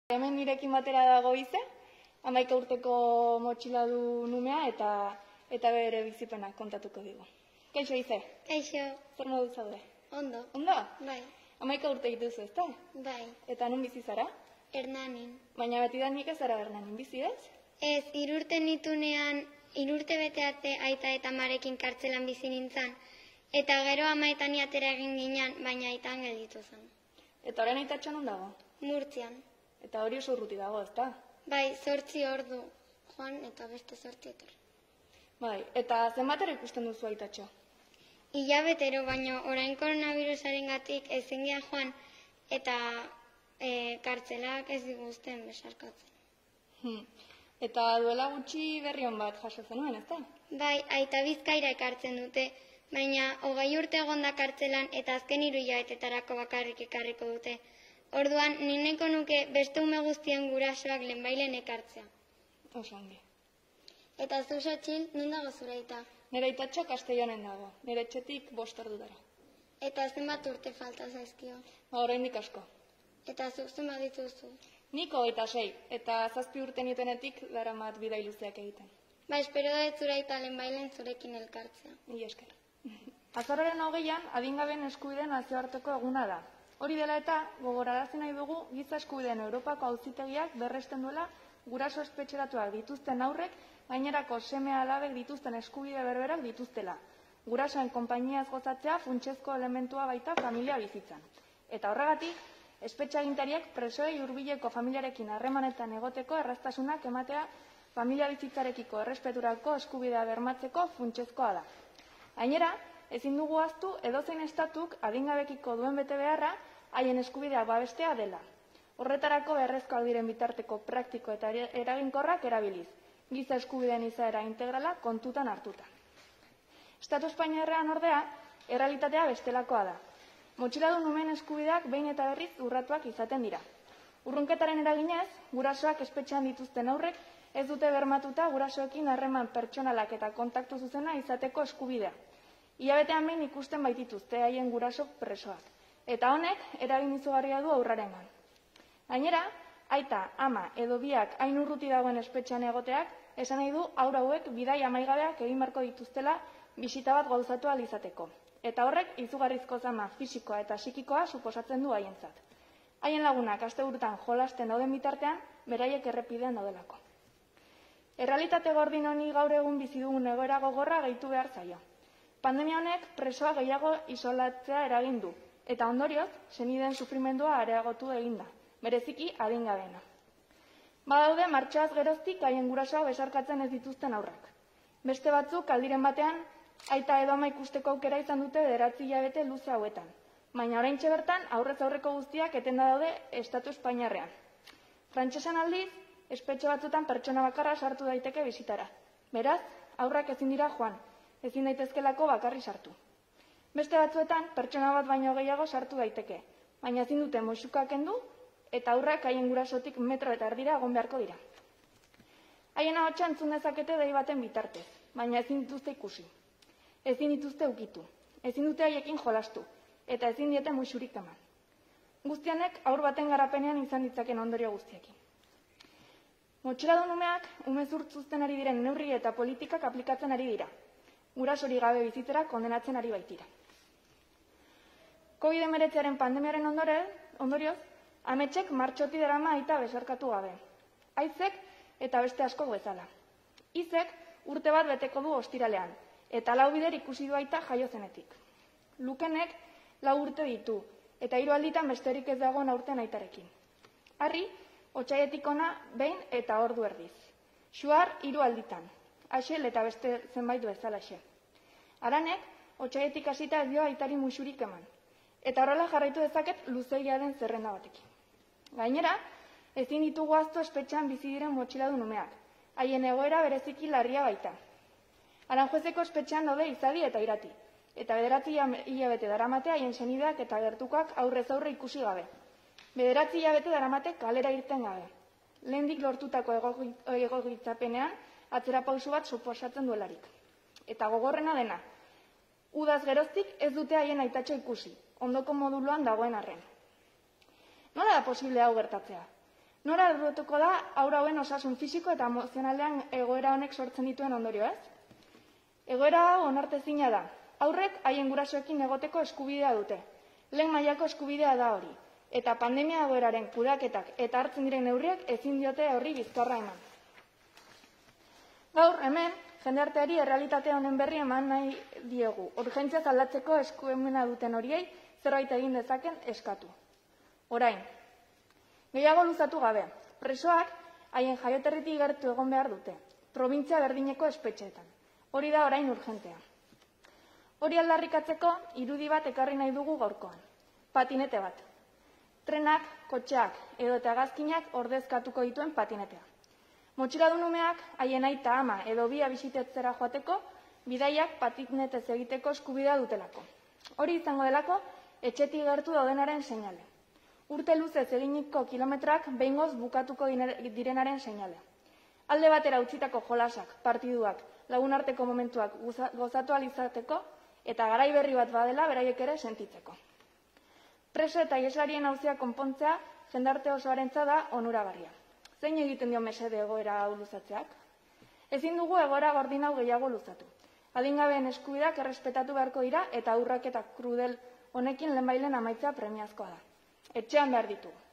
Hemen nirekin batera dago Ize, 11 urteko motxila du numea eta bere bizipenak kontatuko digu. Kaixo Ize? Kaixo. Zer modu zaude? Ondo. Ondo? Bai. 11 urte dituzu, ezta? Bai. Eta nun bizi zara? Hernanin. Baina betidanik ez zara Hernanin bizi, ez? Ez, 3 urte nitunean, 3 urte bete arte aita eta amarekin kartzelan bizi nintzen, eta gero amaetan atera egin ginen, baina aitan gelditu zen. Eta orain aitatxo non dago? Murtzian. Eta hori oso urruti dago, ezta? Bai, 8 ordu joan eta beste 8 etor. Bai, eta zenbatero ikusten duzu aitatxo? Hilabetero, baino orain koronavirusarengatik ezin geha joan eta kartzelak ez diguzten besarkatzen. Eta duela gutxi berri on bat jaso zenuen, ezta? Bai, aita Bizkaira ekartzen dute, baina 20 urte egonda kartzelan eta azken 3 hilabetetarako bakarrik ekarriko dute. Orduan, nineko nuke beste ume guztien gurasoak lehenbailen ekartzea. Oso ongi. Eta zu Xotxil, non dago zure aita? Nire aitatxo Castellanen dago, nire etxetik 5 ordutara. Eta zenbat urte falta zaizkio? Oraindik asko. Eta zuk zenbat dituzu? Nik 26, eta 7 urte nituenetik daramat bidai luzeak egiten. Ba, espero da ez zure aita lehenbailen zurekin elkartzea. Mila esker. Azaroaren 20an, adingabeen eskubideen nazioarteko eguna da. Hori dela eta, gogorarazi nahi dugu, giza eskubideen Europako auzitegiak berresten duela guraso espetxeratuak dituzten haurrek, gainerako seme-alabek dituzten eskubide berberak dituztela. Gurasoen konpainiaz gozatzea funtsezko elementua baita familia bizitzan. Eta horregatik, espetxeagintariek presoei hurbileko familiarekin harremanetan egoteko erraztasunak ematea familia bizitzarekiko errespeturako eskubidea bermatzeko funtsezkoa da. Gainera, ezin dugu ahaztu edozein estatuk adingabekiko duen betebeharra haien eskubidea babestea dela. Horretarako beharrezkoak diren bitarteko praktiko eta eraginkorrak erabiliz, giza eskubideen izaera integrala kontutan hartuta. Estatu Espainiarrean ordea, errealitatea bestelakoa da. Motxiladun umeen eskubideak behin eta berriz urratuak izaten dira. Urrunketaren eraginez, gurasoak espetxean dituzten haurrek ez dute bermatuta gurasoekin harreman pertsonalak eta kontaktu zuzena izateko eskubidea. Hilabetean behin ikusten baitituzte haien guraso presoak. Eta honek eragin izugarria du haurrarengan. Gainera, aita, ama edo biak hain urruti dagoen espetxean egoteak, esan nahi du haur hauek bidai amaigabeak egin beharko dituztela bisita bat gauzatu ahal izateko. Eta horrek izugarrizko zama fisikoa eta psikikoa suposatzen du haientzat. Haien lagunak asteburutan jolasten dauden bitartean, beraiek errepidean daudelako. Errealitate gordin honi gaur egun bizi dugun egoera gogorra gehitu behar zaio. Pandemia honek presoa gehiago isolatzea eragin du, eta ondorioz, senideen sufrimendua areagotu egin da, bereziki adingabeena. Badaude martxoaz geroztik haien gurasoa besarkatzen ez dituzten haurrak. Beste batzuk aldiren batean, aita edo ama ikusteko aukera izan dute 9 hilabete luze hauetan, baina oraintxe bertan aurrez aurreko guztiak etenda daude Estatu Espainiarrean. Frantsesan aldiz, espetxe batzutan pertsona bakarra sartu daiteke bisitara. Beraz, haurrak ezin dira joan, ezin daitezkelako bakarri sartu. Beste batzuetan, pertsona bat baino gehiago sartu daiteke, baina ezin dute musuka kendu eta haurrak haien gurasotik 1,5 metro egon beharko dira. Haien ahotsa entzun dezakete dei baten bitartez, baina ezin dituzte ikusi. Ezin dituzte ukitu, ezin dute haiekin jolastu, eta ezin diete musurik eman. Guztianek haur baten garapenean izan ditzaken ondorio guztiekin. Motxiladun umeak umezurtzuzten ari diren neurri eta politikak aplikatzen ari dira. Gurasori gabe bizitzera kondenatzen ari baitira. COVID-19 pandemiaren ondorioz, ametsek martxoti darama aita besarkatu gabe. Aizek eta beste asko bezala. Izek urte bat beteko du ostiralean, eta 4 bider ikusi du aita jaio zenetik. Lukenek 4 urte ditu, eta 3 alditan besterik ez dagoen aurten aitarekin. Harri, otsaietik ona behin eta ordu erdiz. Xuar 3 alditan. Axel eta beste zenbait bezalaxe. Aranek, otsaietik hasita ez dio aitari musurik eman. Eta horrela jarraitu dezaket luzegia den zerrenda batekin. Gainera, ezin ditugu ahaztu espetxean bizi diren motxiladun umeak. Haien egoera bereziki larria baita. Aranjuezeko espetxean daude Izadi eta Irati. Eta 9 hilabete daramate haien senideak eta gertukoak aurrez aurre ikusi gabe. 9 hilabete daramate kalera irten gabe. Lehendik lortutako egokitzapenean, atzera pausu bat suposatzen duelarik. Eta gogorrena dena, udaz geroztik ez dute haien aitatxo ikusi, ondoko moduluan dagoen arren. Nola da posible hau gertatzea? Nora arduratuko da haur hauen osasun fisiko eta emozionalean egoera honek sortzen dituen ondorio, ez? Egoera hau onartezina da. Haurrek haien gurasoekin egoteko eskubidea dute. Lehen mailako eskubidea da hori. Eta pandemia egoeraren kudeaketak eta hartzen diren neurriek ezin diote horri bizkarra eman. Gaur, hemen, jendarteari errealitate honen berri eman nahi diegu. Urgentziaz aldatzeko eskuemena duten horiei zerbait egin dezaken eskatu. Orain, gehiago luzatu gabe, presoak haien jaioterritik gertu egon behar dute, probintzia berdineko espetxeetan. Hori da orain urgentea. Hori aldarrikatzeko irudi bat ekarri nahi dugu gaurkoan. Patinete bat. Trenak, kotxeak edo eta hegazkinak ordezkatuko dituen patinetea. Motxiladun umeak haien aita ama edo bia bisitetzera joateko bidaiak patinetez egiteko eskubidea dutelako. Hori izango delako etxetik gertu daudenaren seinale. Urte luzez eginiko kilometrak behingoz bukatuko direnaren seinale. Alde batera utzitako jolasak, partiduak, lagunarteko momentuak gozatu alizateko eta garai berri bat badela beraiek ere sentitzeko. Preso eta ieslarien auzia konpontzea jendarte osoarentza da onuragarria. Zein egiten dio mesede egoera hau luzatzeak? Ezin dugu egoera gordin hau gehiago luzatu. Adingabeen eskubideak errespetatu beharko dira eta urrak eta krudel honekin lehenbailen amaitzea premiazkoa da. Etxean behar ditugu.